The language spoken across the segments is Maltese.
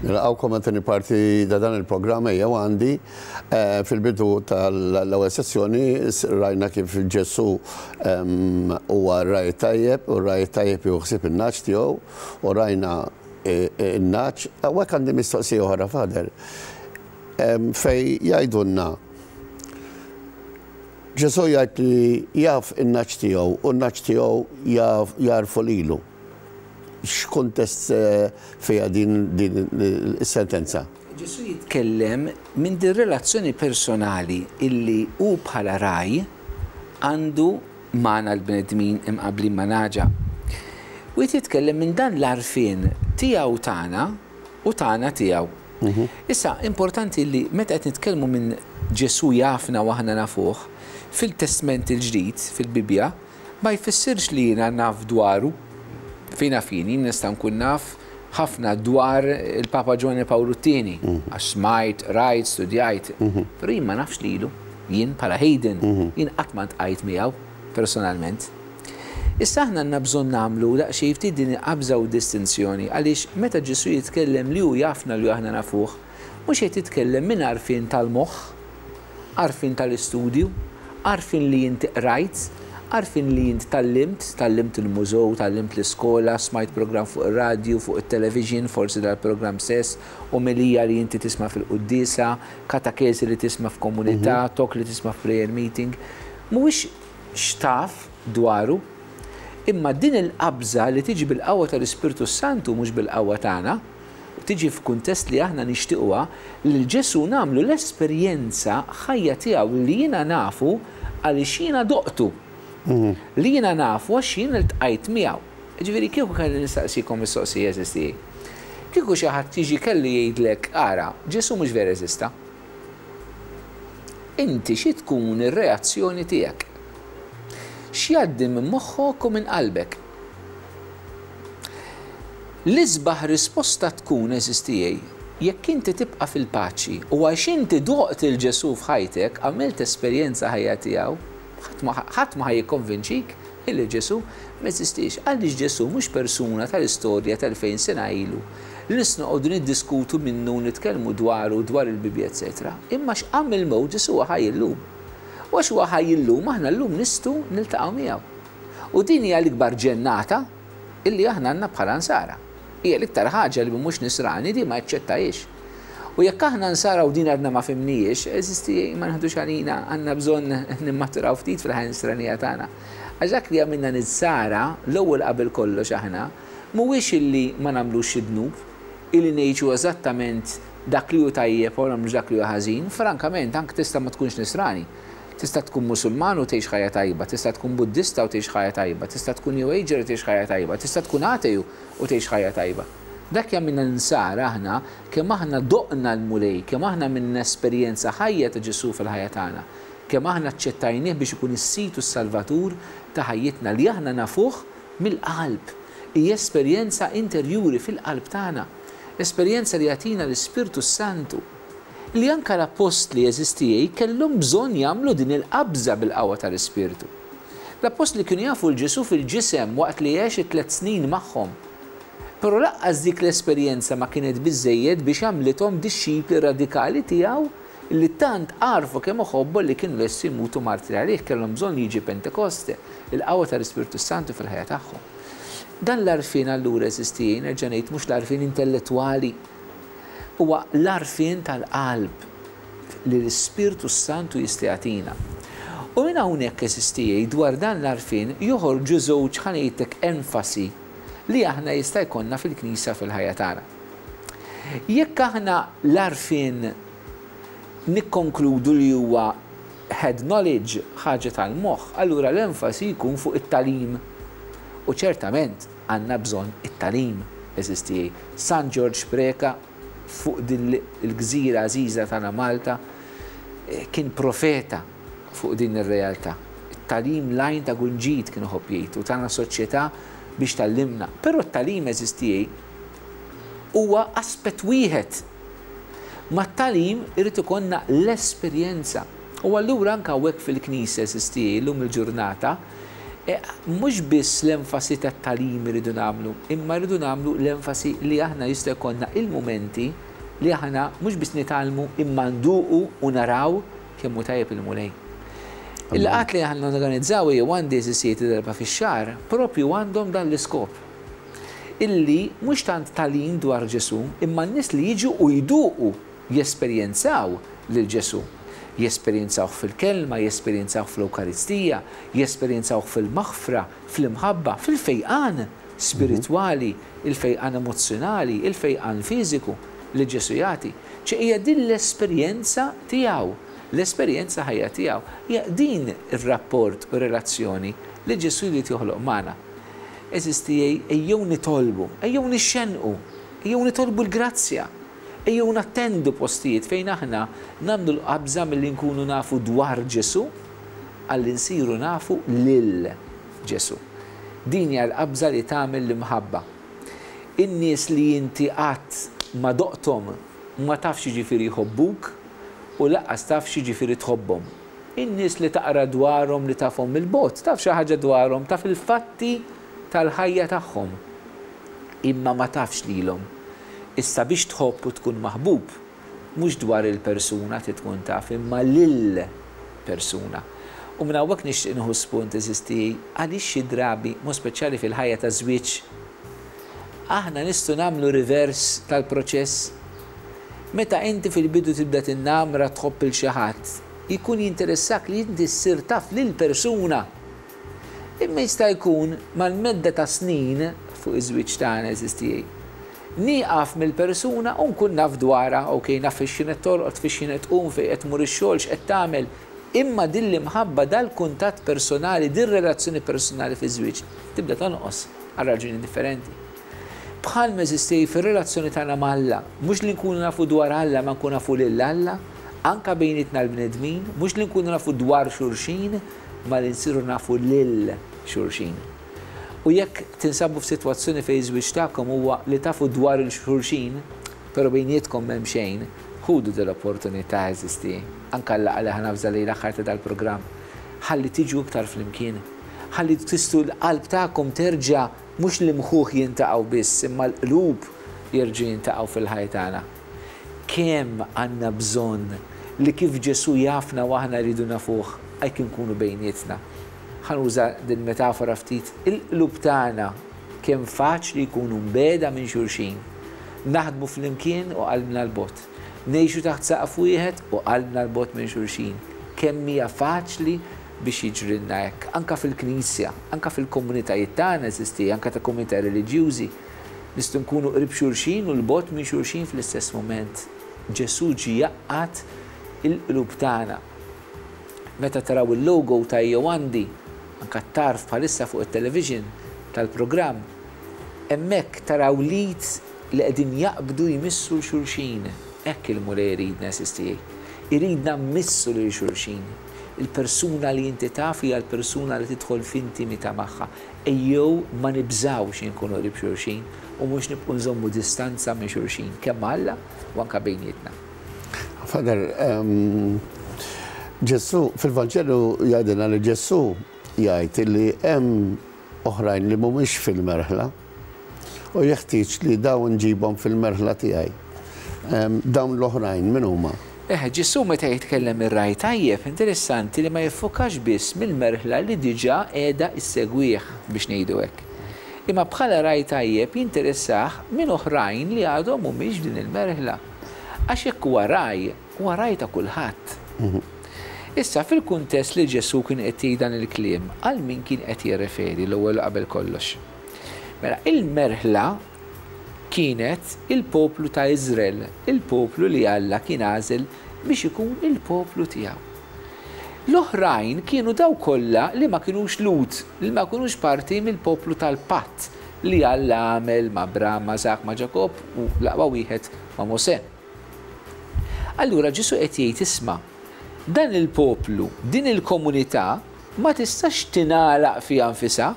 Nilqgħukom għat-tieni parti ta' dan il-programm Ejjew Għandi. Fil-bidu tal-ewwel sessjoni rajna kif Ġesù huwa r-ragħaj tajjeb u r-ragħaj tajjeb jieħu ħsieb in-nagħaġ tiegħu u rajna n-nagħaġ. Hawnhekk għandi mistoqsija oħra Father fejn jgħidulna Ġesù jgħid li jaf in-nagħaġ tiegħu u n-nagħaġ tiegħu jagħrfu lilu. X'kuntest fiha din is-sentenza? Ġesù jitkellem minn din relazzjoni personali illi hu bħala ragħaj għandu magħna l-bnedmin imqabblin ma' nagħġa. U qed jitkellem minn dan l-għarfien tiegħu tagħna u tagħna tiegħu. Issa, importanti li meta qed nitkellmu minn Ġesù jafna u aħna nafuh, fil-Testment il-Ġdid, fil-Bibbja, ma jfissirx li jiena naf dwaru. Fejn naf jien, jien nista' nkun naf ħafna dwar il-Papa Ġwanni Pawlu t-Tieni, għax smajt, qrajt, studjajt, però jien ma nafx lilu. Jien bħala Hayden, jien qatt ma ltqajt miegħu personalment. Issa aħna għandna bżonn nagħmlu daqsxejn ftit din il-qabża u d-distinzjoni għaliex meta Ġesù jitkellem li hu jafna li aħna nafuh, mhux qed jitkellem minn għarfien tal-moħħ, għarfien tal-istudju, għarfien li inti qrajt, għarfien li int tgħallimt, tgħallimt il-mużew, tgħallimt l-iskola, smajt programm fuq ir-radju, fuq it-television, forsi dal-programm stess, omelija li inti tisma' fil-quddiesa, katakesi li tisma' f'komunità, talk li tisma' f'prayer meeting. Mhuwiex x'taf dwaru, imma din il-qabża li tiġi bil-qawwa tal-Ispirtu s-Santu mhux bil-qawwa tagħna, u tiġi f'kuntest li aħna nixtiequha, lil Ġesù nagħmlu l-esperjenza ħajja tiegħu li jiena nafu għaliex jiena doqtu. Li jiena nafu għax jien iltqajt miegħu. Jiġifieri kieku kelli nistaqsikom mistoqsija għeżież tiegħi. Kieku xi ħadd jiġi kellu jgħidlek ara, Ġesù mhux vera eżista. Inti xi tkun ir-reazzjoni tiegħek? X'jgħaddi minn moħħok u minn qalbek? L-isbaħ risposta tkun, għeżież tiegħi, jekk inti tibqa' fil-paċi u għax inti doqt 'il Ġesù f'ħajtek, għamilt esperjenza ħajja tiegħu, ħadd ma ħadd ma ħa jikkonvinċik illi Ġesù m'eżistiex. Għaliex Ġesù mhux persuna tal-istorja t'elfejn sena ilu li nistgħu noqogħdu niddiskutu minnu u nitkellmu dwaru, dwar il-Bibbja eċċetera. Imma għax qam mill-mewt Ġesù huwa ħaj illum. U għax huwa ħaj illum aħna llum nistgħu niltaqgħu miegħu. U din hija l-ikbar ġennata illi aħna għandna bħala Nsara. Hija l-iktar ħaġa li min mhux Nisrani din ma jaċċettahiex. U jekk aħna Nsara u din għadna ma fhimnihiex, għeżież tiegħi, ma neħdux għalina, għandna bżonn nimmaturaw ftit fil-ħajja Nisranija tagħna. Għax dak li jagħmilna Nsara, l-ewwel qabel kollox aħna, mhuwiex illi ma nagħmlux xi dnub, illi ngħixu eżattament dak li hu tajjeb u ma nagħmlux dak li hu ħażin, frankament anke tista' ma tkunx Nisrani. Tista' tkun Musulman u tgħix ħajja tajba, tista' tkun Buddista u tgħix ħajja tajba, tista' tkun New Ager u tgħix ħajja tajba, tista' tkun ateju u tgħix ħajja tajba. Dak jagħmilna Nsara aħna kemm aħna doqna l-Mulej, kemm aħna għamilna esperjenza ħajja ta' Ġesù fil-ħajja tagħna, kemm aħna aċċettajnih biex ikun is-Sid u s-Salvatur ta' ħajjitna li aħna nafuh mill-qalb. Hi esperjenza interjuri fil-qalb tagħna, esperjenza li jagħtina l-Ispirtu s-Santu. Li anke l-appostli, għeżież tiegħi, kellhom bżonn jagħmlu din il-qabża bil-qawwa tal-Ispirtu. L-appostli kienu jafu 'l Ġesù fil-ġisem waqt li għex it-tlett snin magħhom. Però lanqas dik l-esperjenza ma kienet biżżejjed biex għamlithom dixxipli radikali tiegħu li tant għarfu kemm iħobbu li kienu lesti jmutu martri għalih. Kellhom bżonn li jiġi Pentekoste, il-qawwa tal-Ispirtu s-Santu fil-ħajja tagħhom. Dan l-għarfien allura, għeżież tiegħi, nerġa' ngħid, mhux l-għarfien intellettwali, Huwa l-għarfien tal-qalb li l-Ispirtu s-Santu jista' jagħtina. U minn hawnhekk, għeżież tiegħi, dwar dan l-għarfien joħorġu żewġ, ħa ngħidlek, enfasi li aħna jista' jkollna fil-Knisja fil-ħajja tagħna. Jekk aħna l-għarfien nikkonkludu li huwa head knowledge, ħaġa tal-moħħ, allura l-enfasi jkun fuq it-tagħlim. U ċertament, Għandna bżonn it-tagħlim, għeżież tiegħi. San Ġorġ Preca fuq din il-gżira għażiża tagħna Malta kien profeta fuq din ir-realtà. It-tagħlim l-għajn ta' kull ġid kien iħobb jgħid u tana soċjetà biex tgħallimna. Però t-tagħlim, għeżież tiegħi, huwa aspett wieħed. Mat-tagħlim irid ikollna l-esperjenza. U allura anke hawnhekk fil-Knisja, għeżież tiegħi, illum il-ġurnata, Mhux biss l-enfasi tat-tagħlim irridu nagħmlu, imma rridu nagħmlu l-enfasi li aħna jista' jkollna il-mumenti li aħna mhux biss nitgħallmu imma nduqu u naraw kemm hu tajjeb il-Mulej. Il-laqgħat li aħna norganizzaw ejjew għandi eżistijiet darba fix-xahar propju għandhom dan l-iskop. Illi mhux tant tagħlim dwar Ġesù, imma n-nies li jiġu u jduqu jesperjenzaw lil Ġesù. Jesperjenzawh fil-Kelma, jesperjenzawh fl-Ewkaristija, jesperjenzawh fil-maħfra, fl-imħabba, fil-fejqan spiritwali, il-fejqan emozzjonali, il-fejqan fiżiku li Ġesù jagħti. Ċe hija din l-esperjenza tiegħu, l-esperjenza ħajja tiegħu. Hija din ir-rapport u relazzjoni li Ġesù jrid joħloq magħna. Għeżież tiegħi, ejjew nitolbu, ejjew nixxennqu, ejjew nitolbu l-grazzja Ejjew nattendu postijiet fejn aħna nagħmlu l-qabża milli nkunu nafu dwar Ġesù għal li nsiru nafu lil Ġesù. Din hija l-qabża li tagħmel l-imħabba. In-nies li inti qatt ma doqthom ma tafx x'jiġifieri jħobbuk u lanqas taf x'jiġifieri tħobbhom. In-nies li taqra dwarhom li tafhom mill-bogħod, taf xi ħaġa dwarhom, taf il-fatti tal-ħajja tagħhom. Imma ma tafx lilhom. Issa biex tħobb u tkun maħbub, mhux dwar il-persuna trid tkun taf, imma lill-persuna. U minn hawnhekk nixtieq nieħu spunt, għeżież tiegħi, għaliex xi drabi, mod speċjali fil-ħajja taż-żwieġ, aħna nistgħu nagħmlu reverse tal-proċess. Meta inti fil-bidu tibda tinnamra tħobb 'il xi ħadd, jkun jinteressak li inti ssir taf lill-persuna. Imma jista' jkun mal-medda ta' snin fuq iż-żwieġ tagħna, għeżież tiegħi, nieqaf mill-persuna u nkun naf dwarha, ok, naf fiex kienet torqod, fiex kienet tqum, fejn qed tmur ix-xogħol, x'qed tagħmel, imma din l-imħabba, dal-kuntatt personali, dir-relazzjoni personali fiż-żwieġ tibda tonqos għal raġuni differenti. Bħalma għeżież tiegħi fir-relazzjoni tagħna ma' Alla, mhux li nkunu nafu dwar Alla ma nkunu nafu lil Alla, anke bejnietna l-bnedmin, mhux li nkunu nafu dwar xulxin, ma li nsiru nafu lil xulxin. U jekk tinsabu f'sitwazzjoni fejn iż-żwieġ tagħkom huwa li tafu dwar il xulxin, però bejnietkom m'hemm xejn, ħudu din l-opportunità, għeżież tiegħi, anke għal-laqgħa li ħa navża lejn l-aħħar ta' dal-programm, ħalli tiġu iktar flimkien, ħalli tistgħu l-qalb tagħkom terġa' mhux l-imħuħ jintaqgħu biss imma l-qlub jerġgħu jintaqgħu fil-ħajja tagħna. Kemm għandna bżonn li kif Ġesù jafna u aħna rridu nafuh, hekk inkunu bejnietna. Ħa nuża din metafora ftit, il-qlub tagħna kemm faċli jkunu mbiegħda minn xulxin. Naħdmu flimkien u qalbna 'l bogħod. Ngħixu taħt saqaf wieħed u qalbna 'l bogħod minn xulxin. Kemm hija faċli biex jiġrilna hekk, anke fil-Knisja, anke fil-komunitajiet tagħna, eżisti, anke ta' komunità reliġjużi. Nistgħu nkunu qrib xulxin u 'l bogħod minn xulxin fl-istess mument. Ġesù ġie jgħaqqad il-qlub tagħna. Meta taraw il-logo ta' Ejjew Għandi, anke t-tarf bħalissa fuq it-television tal-programm, hemmhekk taraw l-id li qegħdin jaqbdu jmissu 'l xulxin. Hekk il-Mulej iridna, għeżież tiegħi. Iridna mmissu lil xulxin. Il-persuna li inti taf hija l-persuna li tidħol f'intimità magħha. Ejjew ma nibżgħux inkunu qrib xulxin u mhux nibqgħu nżommu distanza minn xulxin, kemm ma' Alla u anke bejnietna. Father, Ġesù, fil-Vanġelu jgħidilna li Ġesù jgħid li hemm oħrajn li mhumiex fil-merħla u jeħtieġ li dawn nġibhom fil-merħla tiegħi. Dawn l-oħrajn min huma? Eħe, Ġesù meta jitkellem ir-ragħaj tajjeb, interessanti li ma jiffokax biss mill-merħla li diġà qiegħda issegwih, biex ngħidu hekk. Imma bħala ragħaj tajjeb jinteressah minn oħrajn li għadhom mhumiex f'din il-merħla. Għax jekk huwa ragħaj, huwa ragħaj ta' kulħadd. Issa, fil-kuntest li Ġesù kien qed jgħid dan il-kliem, għal min kien qed jirreferi l-ewwel u qabel kollox? Mela, il-merħla kienet il-poplu ta' Iżrael, il-poplu li Alla kien għażel biex ikun il-poplu tiegħu. L-oħrajn kienu dawk kollha li ma kinux Lhud, li ma kinux parti mill-poplu tal-patt li Alla għamel ma' Abraham, ma' Iżakk, ma' Ġakobb u l-aqwa wieħed ma' Mosè. Allura Ġesù qed jgħid isma', dan il-poplu, din il-komunità ma tistax tingħalaq fiha nfisha,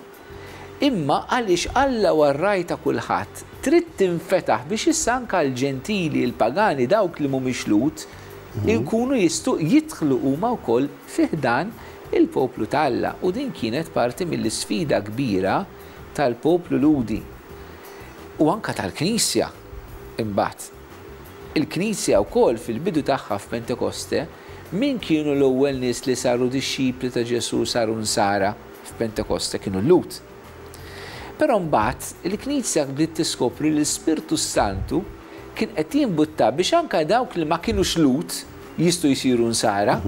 Imma għaliex Alla huwa r-Ragħaj ta' kulħadd, trid tinfetaħ biex issa anke l-Ġentili, il-pagani, dawk li mhumiex Lhud, ikunu jistgħu jidħlu huma wkoll fi ħdan Il-poplu ta' Alla. U din kienet parti mill-isfida kbira tal-poplu Lhudi u anke tal-Knisja imbagħad. Il-Knisja wkoll fil-bidu tagħha f'Pentekoste, min kienu l-ewwel nies li saru dixxipli ta' Ġesù saru Nsara f'Pentekoste? Kienu l-Lhud. Però mbagħad il-Knisja bdiet tiskopri li l-Ispirtu s-Santu kien qed jimbutta biex anke dawk li ma kinux Lhud jistgħu jsiru Nsara.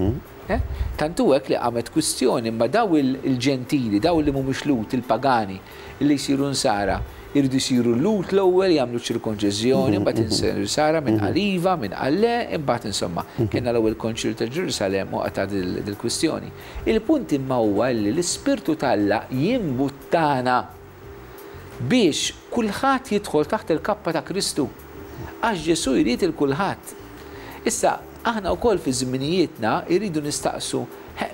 Tant hu hekk li qamet kwistjoni imma daw il-Ġentili, daw li mhumiex Lhud, il-pagani, li jsiru Nsara, iridu jsiru Lhud l-ewwel, jagħmlu ċ-ċirkonċiżjoni, imbagħad insiru Nsara, min qal iva, min qal le, imbagħad insomma, kellna l-ewwel Konċilju ta' Ġerusalemm u qatgħet dil-kwistjoni. Il-punt imma huwa li l-Ispirtu t'Alla jimbuttana biex kulħadd jidħol taħt il-kappa ta' Kristu. Għax Ġesù jrid 'il kulħadd. Issa, aħna wkoll fi żminijietna jridu nistaqsu,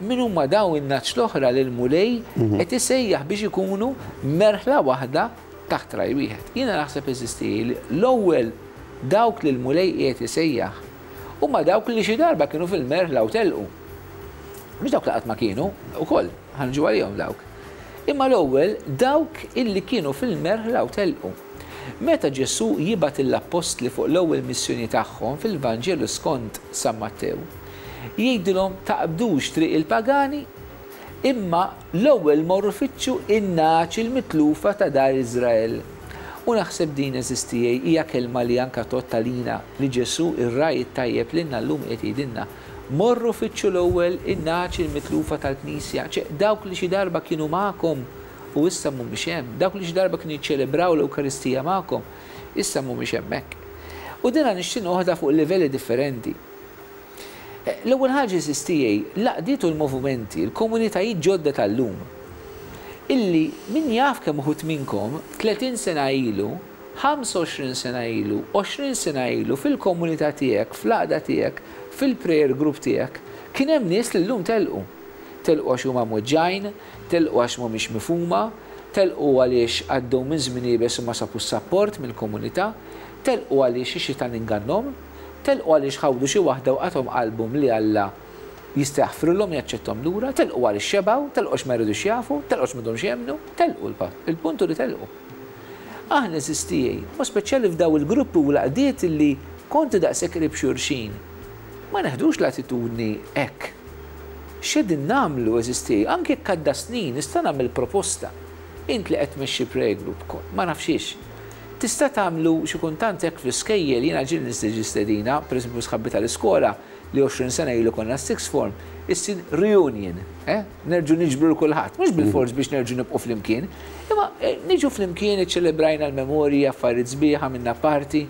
min huma dawn in-nagħaġ l-oħra li l-Mulej qed isejjaħ biex ikunu merħla waħda taħt ragħaj wieħed? Jiena naħseb, għeżież tiegħi, li l-ewwel dawk li l-Mulej qiegħed isejjaħ huma dawk li xi darba kienu fil-merħla u telqu. Mhux dawk li qatt ma kienu, ukoll, ħa niġu għalihom dawk. Imma l-ewwel dawk illi kienu fil-merħla u telqu. Meta Ġesù jibgħat lill-appostli fuq l-ewwel missjoni tagħhom fil-Vanġelu skont San Mattew, jgħidilhom taqbdux triq il-pagani, imma l-ewwel morru fittxu n-nagħaġ il-mitlufa ta' dar Iżrael. U naħseb din, għeżież tiegħi, hija kelma li anke tgħodd għalina, li Ġesù, ir-Ragħaj it-Tajjeb lilna llum qiegħed jgħidilna, Morru fittxu l-ewwel in-nagħaġ il-mitlufa tal-Knisja, ċe, dawk li xi darba kienu magħkom u issa mhumiex hemm, dawk li xi darba kienu jiċċelebraw l-Ewkaristija magħkom, issa mhumiex hemmhekk. U dina nixtieq noħodha fuq livelli differenti. L-ewwel ħaġa, għeżież tiegħi, l-għaqdiet u l-movimenti, il-komunitajiet ġodda tal-lum, illi min jaf kemm uħud minnkom 30 sena ilu, 25 sena ilu, 20 sena ilu, fil-komunità tiegħek, fl-għaqda tiegħek, fil-prayer group tiegħek, kien hemm nies li llum telqu. Telqu għax huma mweġġgħin, telqu għax mhumiex mifhuma, telqu għaliex għaddew minn żmien iebes u ma sabux sapport mill-komunità, telqu għaliex ix-xitan ingannhom, telqu għaliex ħawdu xi waħda u qatgħom qalbhom li Alla jista' jaħfrilhom jaċċetthom lura, telqu għaliex xebgħu, telqu għax ma jridux jafu, telqu għax m'għadhomx jemmnu, telqu l-punt hu li telqu. Aħna għeżież tiegħi, b'mod speċjali f'daw il-gruppi u l-għaqdiet li kontu daqshekk qrib xulxin, ma neħdux l-attitudni hekk. X'qegħdin nagħmlu, għeżież tiegħi? Anke jekk għadda snin, nista' nagħmel proposta. Int li qed tmexxi prayer group, ma nafx hiex. Tista' tagħmlu xi kultant hekk fl-iskejjel, jiena ġieli nistiġi stedina, pereżempju sħabbi tal-iskola, li 20 sena ilu konna s-sixth form, issir reunion, eh? Nerġgħu niġbru 'l kulħadd, mhux bilfors biex nerġgħu nibqgħu flimkien, imma niġu flimkien iċċelebrajna l-memorji, affarijiet sbieħ, għamilna party.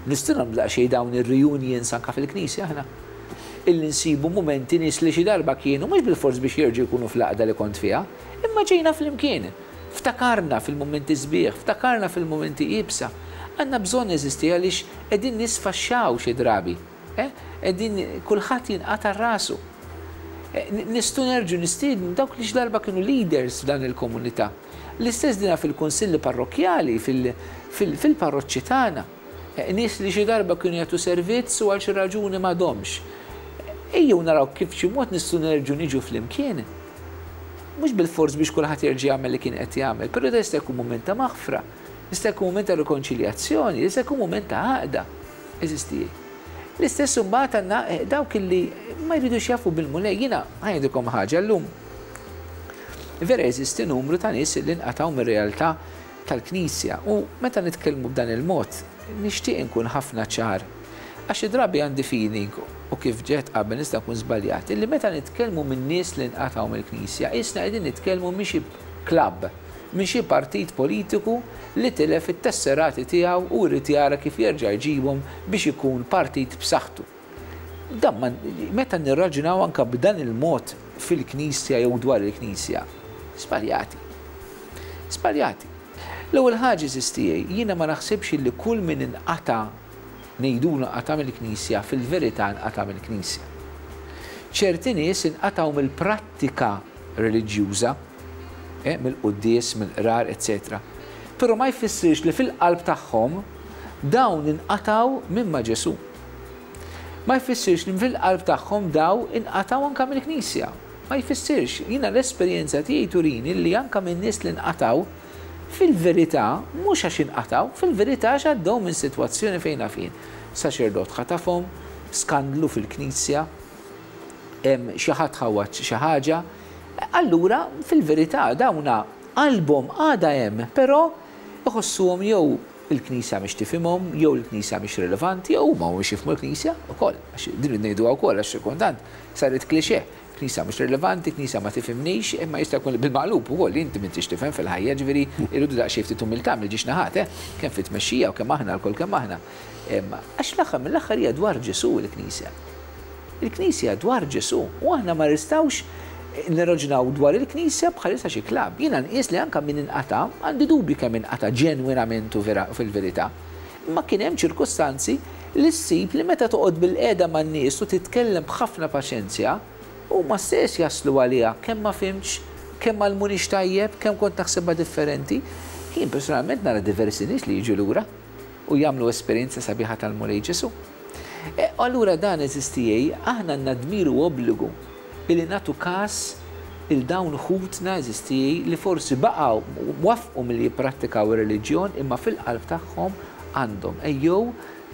Nistgħu nagħmlu daqsxejn dawn ir-reunions anke fil-knisja aħna. Illi nsibu mumenti nies li xi darba kienu mhux bilfors biex jerġgħu jkunu fl-għaqda li kont fiha, imma ġejna flimkien. Ftakarna fil-mumenti sbieħ, ftakarna fil-mumenti iebsa. Għandna bżonn neżisti għaliex qegħdin nisfaxxaw xi drabi. Eh? Qegħdin kulħadd jinqata' rasu. Eh, nistgħu nerġgħu nistiednu dawk li xi darba kienu leaders f'dan il-komunità. L-istess dina fil-kunsilli parrokkjali, fil-parroċċi tagħna. Eh, nies li xi darba kienu jagħtu servizz u għal xi raġuni m'għadhomx. Ejjew naraw kif xi mod nistgħu nerġgħu niġu flimkien. Mhux bilfors biex kulħadd jerġa' jagħmel li kien qed jagħmel, però da jista' jkun mument ta' maħfra, jista' jkun mument ta' rikonċiljazzjoni, jista' jkun mument ta' għaqda. Eżisti. L-istess imbagħad għandna eh, dawk illi ma jridux jafu bil-Mulej. Jiena ħajdilkom ħaġa llum. Vera jeżisti numru ta' nies li nqatgħu mir-realtà tal-Knisja u meta nitkellmu b'dan il-mod nixtieq inkun ħafna ċar. Għax xi drabi għandi feeling u kif ġet qabel nista' nkun żbaljat, illi meta nitkellmu minn nies li nqatgħu mill-Knisja, qisna qegħdin nitkellmu minn xi klabb, minn xi partit politiku li tilef it-tesserati tiegħu u jrid jara kif jerġa' jġibhom biex ikun partit b'saħħtu. Dan ma, meta nirraġunaw anke b'dan il-mod fil-Knisja jew dwar il-Knisja, żbaljati. Żbaljati. L-ewwel ħaġa, għeżież tiegħi, jiena ma naħsibx illi kull min inqata' ngħidulu nqata' mill-Knisja, fil-verità nqata' mill-Knisja. Ċerti nies inqatgħu mill-prattika reliġjuża, eh, mill-quddies, mill-qrar, eċċetera. Però ma jfissirx li fil-qalb tagħhom dawn inqatgħu minn ma' Ġesù. Ma jfissirx li fil-qalb tagħhom daw inqatgħu anke mill-Knisja. Ma jfissirx. Jiena l-esperjenza tiegħi turini li anke minn nies li nqatgħu, fil-verità, mhux għax inqatgħu, fil-verità għax għaddew minn sitwazzjoni fejn naf jien, saċerdot ħatafhom, skandlu fil-knisja, xi ħadd ħawwad xi ħaġa. Allura, fil-verità, dawna qalbhom għadha hemm, però iħossuhom jew il-Knisja mhix tifhimhom, jew il-Knisja mhix rilevanti, jew huma mhumiex jifhmu l-Knisja wkoll, għax din irridu ngħiduha wkoll għax xi kultant saret cliché, Knisja mhux rilevanti, Knisja ma tifhimnix, imma jista' jkun li bil-maqlub ukoll, inti m'intix tifhem fil-ħajja, ġifieri irridu daqsxejn ftit umiltà mill-ġiex naħat, eh, kemm fit-tmexxija u kemm aħna lkoll kemm aħna. Għax l-aħħar mill-aħħar hija dwar Ġesù l-Knisja. Il-Knisja dwar Ġesù u aħna ma nistgħux nirraġunaw dwar il-Knisja bħalissa xi klabb. Jiena nqies li anke min inqata', għandi dubji kemm inqata' ġenwinament u fil-verità. Imma kien hemm ċirkustanzi li ssib li meta toqgħod bilqiegħda man-nies u titkellem b'ħafna paċenzja, huma stess jaslu għaliha kemm ma fhimtx, kemm m'għallmunix tajjeb, kemm kont naħsibha differenti. Jien personalment nara diversi nies li jiġu lura u jagħmlu esperjenza sabiħa tal-Mulej Ġesù. E, allura dan għeżież tiegħi, aħna għandna dmir u obbligu illi nagħtu kas 'il dawn ħutna għeżież tiegħi li forsi baqgħu waffqu milli jipprattikaw ir-reliġjon imma fil-qalb tagħhom għandhom. Ejjew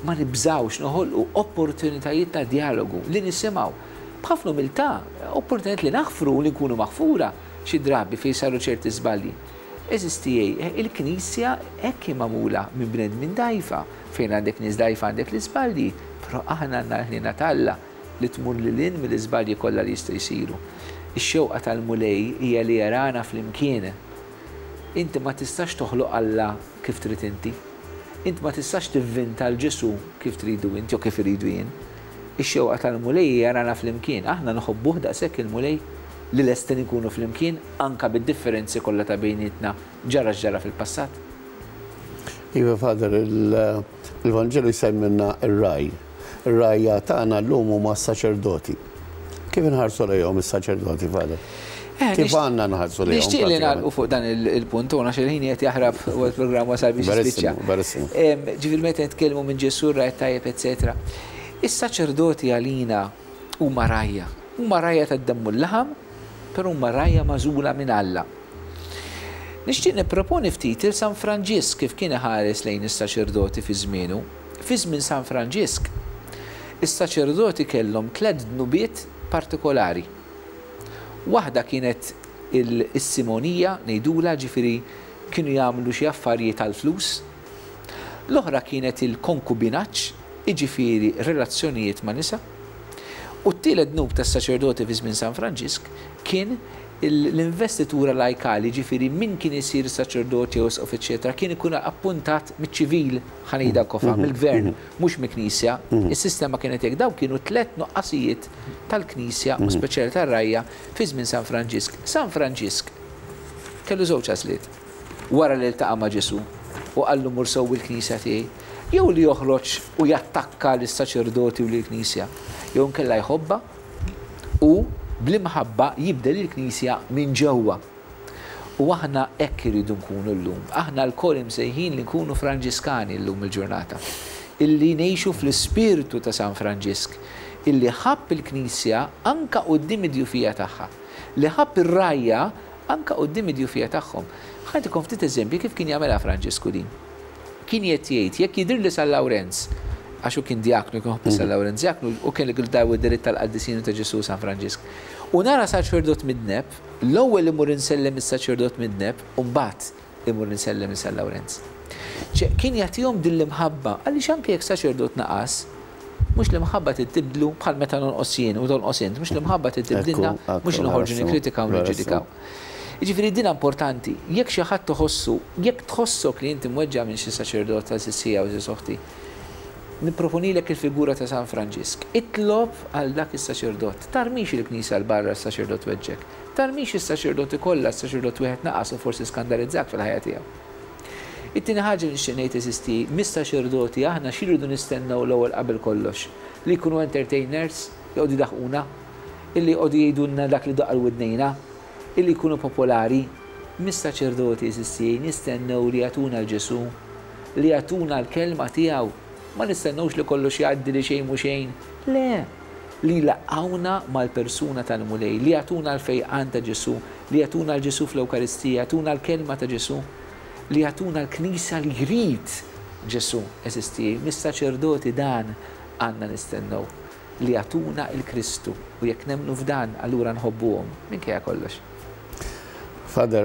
ma nibżgħux noħolqu opportunitajiet ta' djalogu, li nisimgħu b'ħafna umiltà, opportunitajiet li naħfru u li nkunu maħfura xi drabi fejn saru ċerti żbalji. Għeżież tiegħi, il-Knisja hekk hi magħmula minn bnedmin dgħajfa. Fejn għandek nies dgħajfa għandek l-iżbalji, però aħna għandna l-ħniena t'Alla li tmur lil hinn mill-iżbalji kollha li jistgħu jsiru. Ix-xewqa tal-Mulej hija li jarana flimkien. Inti ma tistax toħloq Alla kif trid inti. Int ma tistax tivvinta 'l Ġesù kif tridu int jew kif irridu jien. Ix-xewqa tal-Mulej hi jarana flimkien. Aħna nħobbuh daqshekk il-Mulej li lesti li nkunu flimkien anke bid-differenzi kollha ta' bejnietna ġara x'ġara fil-passat. Iva Father, il-Vanġelu jsemmilna r-ragħaj. Ir-rgħajja tagħna llum huma s-saċerdoti. Kif inħarsu lejhom is-saċerdoti, Father? Eh, Kif għandna nħarsu lejhom? Nixtieq li nagħlqu fuq dan il-punt, u għax il-ħin qed jaħrab u l-programm wasal biex jispiċċa. Verissimo. Ġifieri meta nitkellmu minn Ġesù ragħaj tajjeb, eċetera. Is-saċerdoti għalina huma rgħajja. Huma rgħajja tad-demm u l-laħam, però huma rgħajja magħżula minn Alla. Nixtieq nipproponi ftit lil San Franġisk kif kien iħares lejn is-saċerdoti fi żmienu. Fi żmien San Franġisk, is-saċerdoti kellhom tlett dnubiet partikolari. Waħda kienet is-simonija, ngħidulha, ġifieri kienu jagħmlu xi affarijiet għall-flus. L-oħra kienet il-konkubinaġġ, jiġifieri relazzjonijiet ma' nisa. U t-tielet dnub tas-saċerdoti fi żmien San Franġisk kien l-investitura lajkali, jiġifieri min kien isir saċerdot jew isqof eċċetera kien ikun appuntat miċ-ċivil, ħa ngħidha kofa, mill-gvern, mhux mill-Knisja. Is-sistema kienet hekk. Dawn kienu tlett nuqqasijiet tal-Knisja u speċjali tar-rgħajja fi żmien San Franġisk. San Franġisk kellu żewġ għażliet wara li ltaqa' ma' Ġesù u qallu mur sewwi l-Knisja tiegħi, jew li joħroġ u jattakka lis-saċerdoti u lill-Knisja, jew inkella jħobbha u bl-imħabba jibdel il-Knisja minn ġewwa. U aħna hekk irridu nkunu llum. Aħna lkoll imsejħin li nkunu Franġiskani llum il-ġurnata. Illi ngħixu fl-ispirtu ta' San Franġisk, illi ħabb il-Knisja anka quddiem id-djufija tagħha. Li ħabb ir-rgħajja anka quddiem id-djufija tagħhom. Ħa nagħtikom ftit eżempji kif kien jagħmilha Franġisku din. Kien qed jgħid, jekk jidhirli San Lawrenz, għax hu kien djaknu, kien iħobb San Lawrenz djaknu, u kien daw id-dritt tal-qaddisin u ta' Ġesù San Franġisk. U nara saċerdot midneb, l-ewwel immur insellem is-saċerdot midneb u mbagħad immur insellem lil San Lawrenz. Ċe, kien jagħtihom din l-imħabba, għaliex anke jekk saċerdot naqas, mhux l-imħabba trid tibdlu bħal meta nonqos jien u tonqos int, mhux l-imħabba trid tibdilna, mhux noħorġu nikkritikaw u niġġudikaw. Jiġifieri din importanti, jekk xi ħadd iħossu, jekk tħossok li inti mweġġa' minn xi saċerdot għeżież ħija u għeżież oħti, nipproponilek il-figura ta' San Franġisk. Itlob għal dak is-saċerdot. Tarmix il-Knisja 'l barra s-saċerdot weġġgħek. Tarmix is-saċerdoti kollha, s-saċerdot wieħed naqas u forsi skandalizzak fil-ħajja tiegħu. It-tieni ħaġa li nixtieq ngħid għeżież tiegħi, mis-saċerdoti aħna xi rridu nistennew l-ewwel qabel kollox? Li jkunu entertainers, joqogħdu jdaħquna? Illi joqogħdu jgħidulna dak li daqq għal widnejna? Illi jkunu popolari? Mis-saċerdoti għeżież tiegħi nistennew li jagħtuna 'l Ġesù, li jagħtuna l-kelma tiegħu. Ma nistennewx li kollox jgħaddi li xejn mhu xejn. Le! li jlaqqgħuna mal-persuna tal-Mulej, li jagħtuna l-fejqan ta' Ġesù, li jagħtuna 'l Ġesù fl-Ewkaristija, jagħtuna l-Kelma ta' Ġesù, li jagħtuna l-Knisja li jrid Ġesù, għeżież tiegħi. Mis-saċerdoti dan għandna nistennew, li jagħtuna 'l Kristu, u jekk nemmnu f'dan, allura nħobbuhom, minkejja kollox. Father,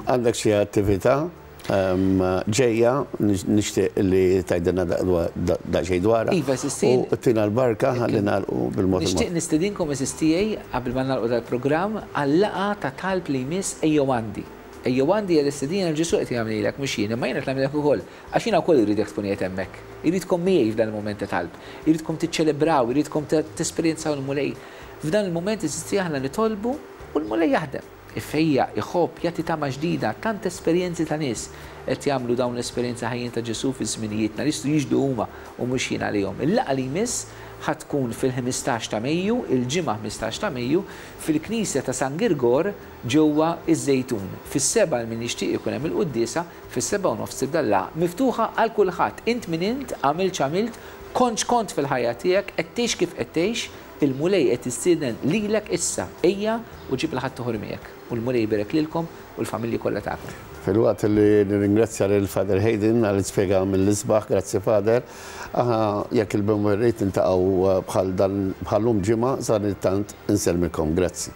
għandek xi attività ġejja nixtieq li tgħidilna daqsxejn dwarha. Iva, għeżież tiegħi. U tina l-barka ħalli nagħlqu bil-mod il-mod. Nixtieq nistedinkom għeżież tiegħi qabel ma nagħlqu dal-programm għal-laqgħa ta' talb li jmiss Ejjew Għandi. Ejjew Għandi hija l-istedina li Ġesù qed jagħmlilek mhux jien, imma jien qed nagħmilek ukoll għax jiena wkoll irridek tkun qiegħed hemmhekk. Irridkom miegħi f'dan il-mument ta' talb. Irridkom tiċċelebraw, irridkom tesperjenzaw il-Mulej. F'dan il-mument għeżież tiegħi aħna nitolbu u l-Mulej jaħdem. Ifejjaq, iħobb, jagħti tama ġdida. Tant esperjenzi ta' nies qed jagħmlu dawn l-esperjenzi ħajjin ta' Ġesù fi żminijietna li jistgħu jixhdu huma u mhux jien għalihom. Il-laqgħa li jmiss ħa tkun fil-ħmistax ta' Mejju, il-Ġimgħa 15 ta' Mejju, fil-Knisja ta' San Girgor ġewwa ż-Żejtun. Fis-sebgħa għal min jixtieq ikun hemm il-quddiesa, fis-sebgħa u nofs tibda l-laqgħa. Miftuħa għal kulħadd, int min int, għamilt x'għamilt, kont x'kont fil-ħajja tiegħek, qed tgħix kif qed tgħix, Il-Mulej qed jistieden lilek issa, ejja u ġib 'il ħaddieħor miegħek. U l-Mulej iberek lilkom u l-familji kollha tagħkom. Filwaqt li nirringrazzja lil Father Hayden għall-ispjega mill-isbaħ, grazzi Father, aħna jekk il-Bemwer irid niltaqgħu bħal dan bħal-lum ġimgħa, sadanittant insellmilkom. Grazzi.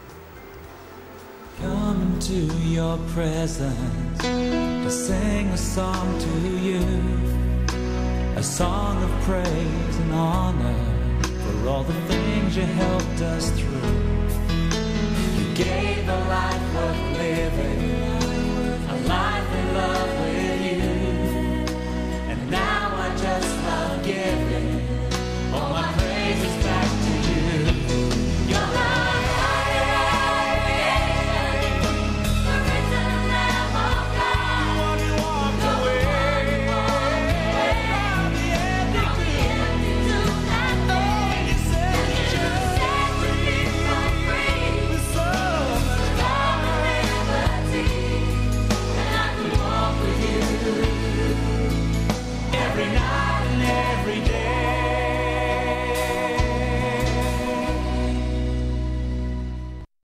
Come into your presence to sing a song to you, a song of praise and honor for all the things you helped us through. You gave a life worth living, a life in love.